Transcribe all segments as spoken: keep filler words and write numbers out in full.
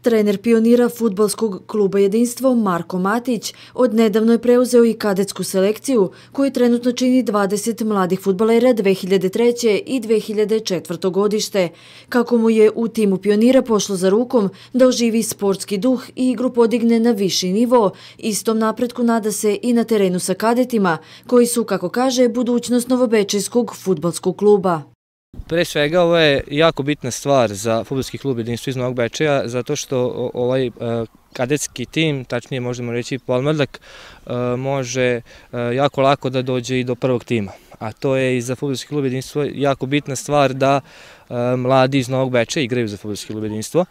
Trener pionira fudbalskog kluba Jedinstvo Marko Matić odnedavno je preuzeo i kadetsku selekciju koju trenutno čini dvadeset mladih fudbalera dve hiljade treće. i dve hiljade četvrte. godište. Kako mu je u timu pionira pošlo za rukom da oživi sportski duh i igru podigne na viši nivo, istom napretku nada se i na terenu sa kadetima koji su, kako kaže, budućnost novobečejskog fudbalskog kluba. Pre svega, ovo je jako bitna stvar za fudbalski klub Jedinstvo iz Novog Bečeja, zato što ovaj kadetski tim, tačnije možemo reći podmladak, može jako lako da dođe i do prvog tima. A to je i za fudbalski klub Jedinstvo jako bitna stvar da mladi iz Novog Bečeja igraju za fudbalski klub Jedinstvo.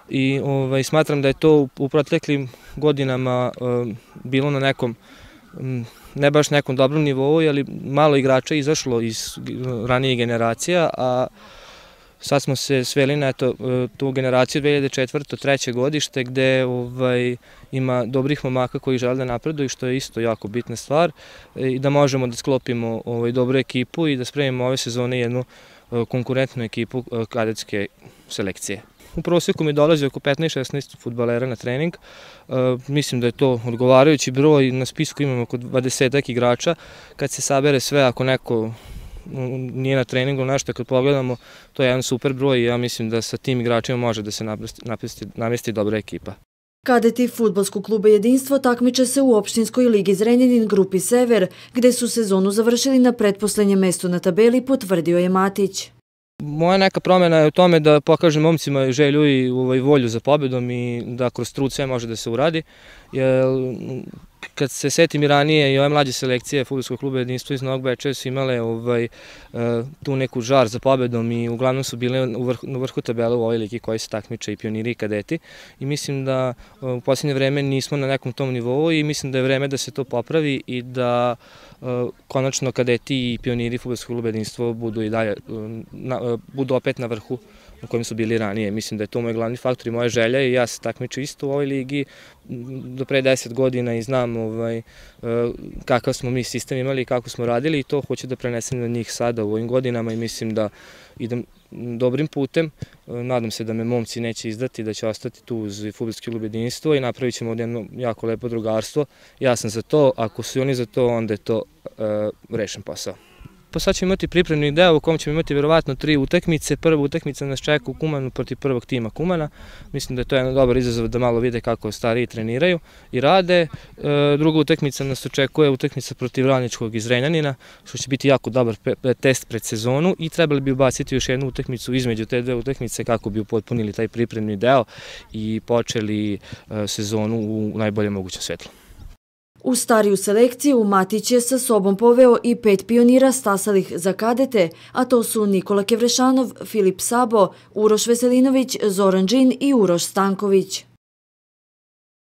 I ovaj, smatram da je to u proteklim godinama bilo na nekom, ne baš nekom dobrom nivou, ali malo igrača izašlo iz ranijih generacija, a sad smo se sveli na to, tu generaciju dve hiljade četvrte. treće. godište gde ovaj, ima dobrih momaka koji žele da napreduju, što je isto jako bitna stvar, i da možemo da sklopimo ovaj, dobru ekipu i da spremimo ove sezone jednu konkurentnu ekipu kadetske selekcije. U prosjeku mi dolazi oko petnaest šesnaest fudbalera na trening. Mislim da je to odgovarajući broj. Na spisku imamo oko dvadesetak igrača. Kad se sabere sve, ako neko nije na treningu, nešto kad pogledamo, to je jedan super broj i ja mislim da sa tim igračima može da se namesti dobra ekipa. Kadeti fudbalskog kluba Jedinstvo takmiče se u opštinskoj ligi Zrenjanin grupi Sever, gde su sezonu završili na pretposlednjem mestu na tabeli, potvrdio je Matić. Moja neka promjena je u tome da pokažem momcima želju i volju za pobedom i da kroz trud sve može da se uradi. Kad se setim i ranije, i ove mlađe selekcije fudbalskog kluba Jedinstvo iz Novog Bečeja su imale tu neku žar za pobedom i uglavnom su bile u vrhu tabele u ovoj ligi koji se takmiče i pioniri i kadeti. I mislim da u posljednje vreme nismo na nekom tom nivou i mislim da je vreme da se to popravi i da konačno kadeti i pioniri fudbalskog kluba Jedinstvo budu i dalje, budu opet na vrhu u kojem su bili ranije. Mislim da je to moj glavni faktor i moja želja i ja se takmiču isto u ovoj ligi do pre deset godina i znam kakav smo mi sistem imali i kako smo radili i to hoću da prenesem na njih sada u ovim godinama i mislim da idem dobrim putem. Nadam se da me momci neće izdati, da će ostati tu uz fudbalski klub Jedinstvo i napravit ćemo jedno jako lepo drugarstvo. Ja sam za to, ako su oni za to, onda je to rešen posao. Pa sad ćemo imati pripremni deo u kom ćemo imati verovatno tri utakmice. Prva utakmica nas čeka u Kumanu protiv prvog tima Kumana. Mislim da je to jedan dobar izazov da malo vide kako stariji treniraju i rade. Druga utakmica nas očekuje utakmica protiv Radničkog iz Zrenjanina, što će biti jako dobar test pred sezonu i trebali bi ubaciti još jednu utakmicu između te dve utakmice kako bi upotpunili taj pripremni deo i počeli sezonu u najboljem mogućem svetlu. U stariju selekciju Matić je sa sobom poveo i pet pionira stasalih za kadete, a to su Nikola Kevrešanov, Filip Sabo, Uroš Veselinović, Zoran Džin i Uroš Stanković.